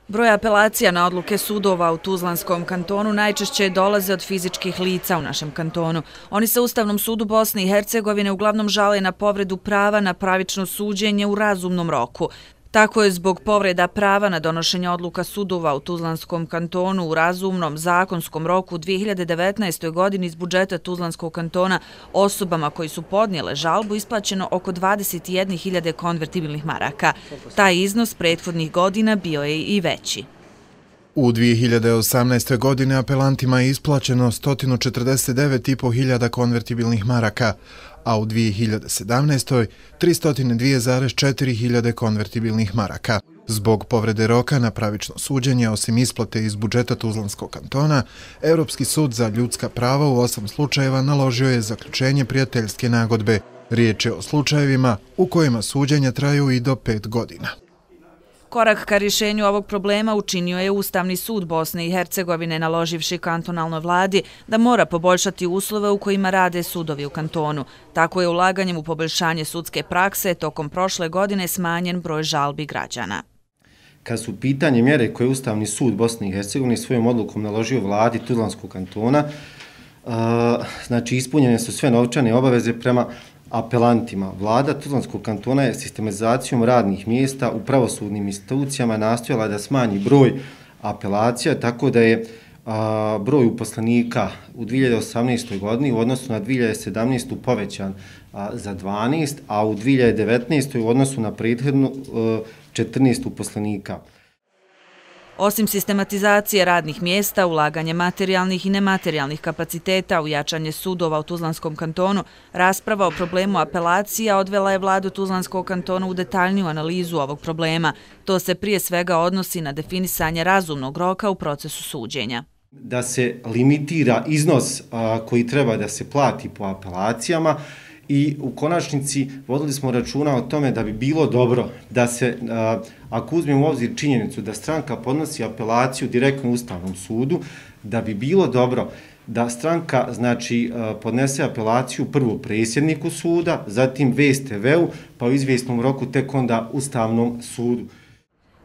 Broj apelacija na odluke sudova u Tuzlanskom kantonu najčešće dolaze od fizičkih lica u našem kantonu. Oni se Ustavnom sudu Bosne i Hercegovine uglavnom žale na povredu prava na pravično suđenje u razumnom roku. Tako je zbog povreda prava na donošenje odluka sudova u Tuzlanskom kantonu u razumnom zakonskom roku u 2019. godini iz budžeta Tuzlanskog kantona osobama koji su podnijele žalbu isplaćeno oko 21.000 konvertibilnih maraka. Taj iznos prethodnih godina bio je i veći. U 2018. godine apelantima je isplaćeno 149.500 konvertibilnih maraka, a u 2017. 302,4 konvertibilnih maraka. Zbog povrede roka na pravično suđenje, osim isplate iz budžeta Tuzlanskog kantona, Europski sud za ljudska prava u 8 slučajeva naložio je zaključenje prijateljske nagodbe. Riječ je o slučajevima u kojima suđenja traju i do 5 godina. Korak ka rješenju ovog problema učinio je Ustavni sud Bosne i Hercegovine naloživši kantonalnoj vladi da mora poboljšati uslove u kojima rade sudovi u kantonu. Tako je ulaganjem u poboljšanje sudske prakse tokom prošle godine smanjen broj žalbi građana. Kad su pitanje mjere koje je Ustavni sud Bosne i Hercegovine svojom odlukom naložio vladi Tuzlanskog kantona, znači ispunjene su sve novčane obaveze prema apelantima. Vlada Tuzlanskog kantona je sistematizacijom radnih mjesta u pravosudnim institucijama nastojala da smanji broj apelacija, tako da je broj uposlenika u 2018. godini u odnosu na 2017. povećan za 12, a u 2019. u odnosu na prethodnu 14 uposlenika. Osim sistematizacije radnih mjesta, ulaganje materijalnih i nematerijalnih kapaciteta u jačanje sudova u Tuzlanskom kantonu, rasprava o problemu apelacija odvela je vladu Tuzlanskog kantona u detaljniju analizu ovog problema. To se prije svega odnosi na definisanje razumnog roka u procesu suđenja. Da se limitira iznos koji treba da se plati po apelacijama, i u konačnici vodili smo računa o tome da bi bilo dobro da se, ako uzmemo u obzir činjenicu da stranka podnosi apelaciju direktno Ustavnom sudu, da bi bilo dobro da stranka podnese apelaciju prvo predsjedniku suda, zatim VSTV-u, pa u izvjesnom roku tek onda Ustavnom sudu.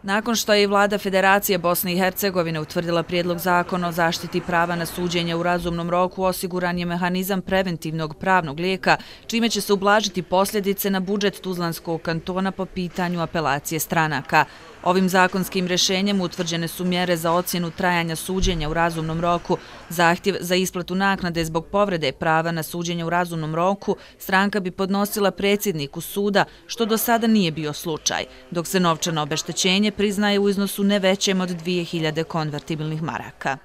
Nakon što je i vlada Federacije Bosne i Hercegovine utvrdila prijedlog zakona o zaštiti prava na suđenje u razumnom roku, osiguran je mehanizam preventivnog pravnog lijeka, čime će se ublažiti posljedice na budžet Tuzlanskog kantona po pitanju apelacije stranaka. Ovim zakonskim rješenjem utvrđene su mjere za ocjenu trajanja suđenja u razumnom roku. Zahtjev za isplatu naknade zbog povrede prava na suđenje u razumnom roku stranka bi podnosila predsjedniku suda, što do sada nije bio slučaj, dok se novčano obeštećenje priznaje u iznosu ne većem od 2.000 konvertibilnih maraka.